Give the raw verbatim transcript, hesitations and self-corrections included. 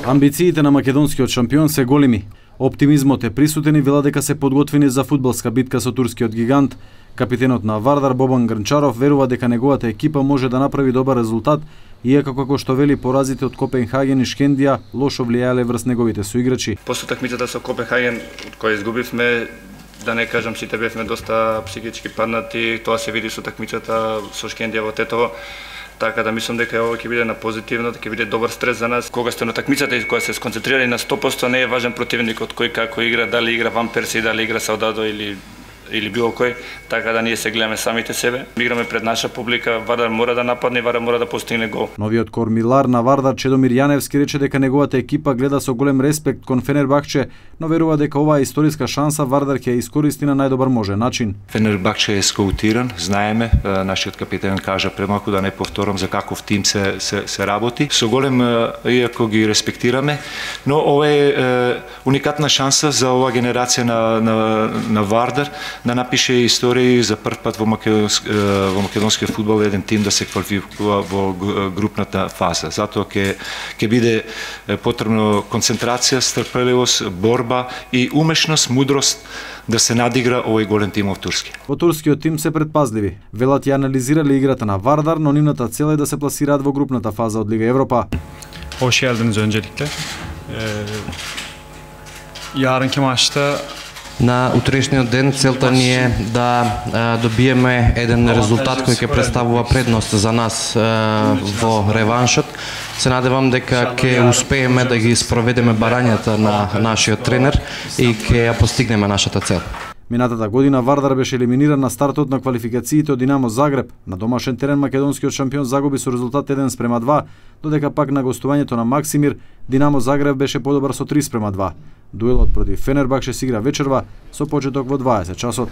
Амбициите на македонскиот шампион се големи. Оптимизмот е присутен и вела дека се подготвени за фудбалска битка со турскиот гигант. Капитенот на Вардар Бобан Грнчаров верува дека неговата екипа може да направи добар резултат, иако како што вели поразите од Копенхаген и Шкендија лошо влијаеле врз неговите соиграчи. После такмицата со Копенхаген, од која изгубивме, да не кажам, сите бевме доста психички паднати, тоа се види со такмицата со Шкендија во Тетово. Така да мислам дека ова ќе биде на позитивно, дека ќе биде добар стрес за нас. Кога сте на такмицата и кога се сконцентрирани на сто проценти, не е важен противникот кој како игра, дали игра Ван Перси, дали игра Саудадо или или било кој, така да ние се гледаме самите себе. Играме пред наша публика, Вардар мора да нападне, Вардар мора да постигне гол. Новиот кормилар на Вардар Чедомир Јаневски рече дека неговата екипа гледа со голем респект кон Фенербахче, но верува дека оваа историска шанса Вардар ќе ја искористи на најдобар можен начин. Фенербахче е скаутиран, знаеме, нашиот капитен кажа премалку да не повторам за каков тим се се, се работи. Со голем, иако ги респектираме, но ова е уникатна шанса за оваа генерација на на на Вардар да напише историја за прв пат во македонски во македонскиот фудбал еден тим да се квалификува во групната фаза. Затоа ќе ќе биде потребно концентрација, стрпеливост, борба и умешност, мудрост да се надигра овој голем тим од Турски. Во турскиот тим се предпазливи. Велат ја анализирале играта на Вардар, но нивната цел е да се пласираат во групната фаза од Лига Европа. Hoş geldiniz öncelikle. Ee, yarınki maçta На утрешниот ден целта ни е да а, добиеме еден резултат кој ќе представува предност за нас а, во реваншот. Се надевам дека ќе успееме да ги спроведеме барањата на нашиот тренер и ќе ја постигнеме нашата цел. Минатата година Вардар беше елиминиран на стартот на квалификациите од Динамо Загреб. На домашен терен македонскиот шампион загуби со резултат еден спрема два, додека пак на гостувањето на Максимир Динамо Загреб беше подобар со три спрема два. Дуелот против Фенербахче се игра вечерва со почеток во дваесет часот.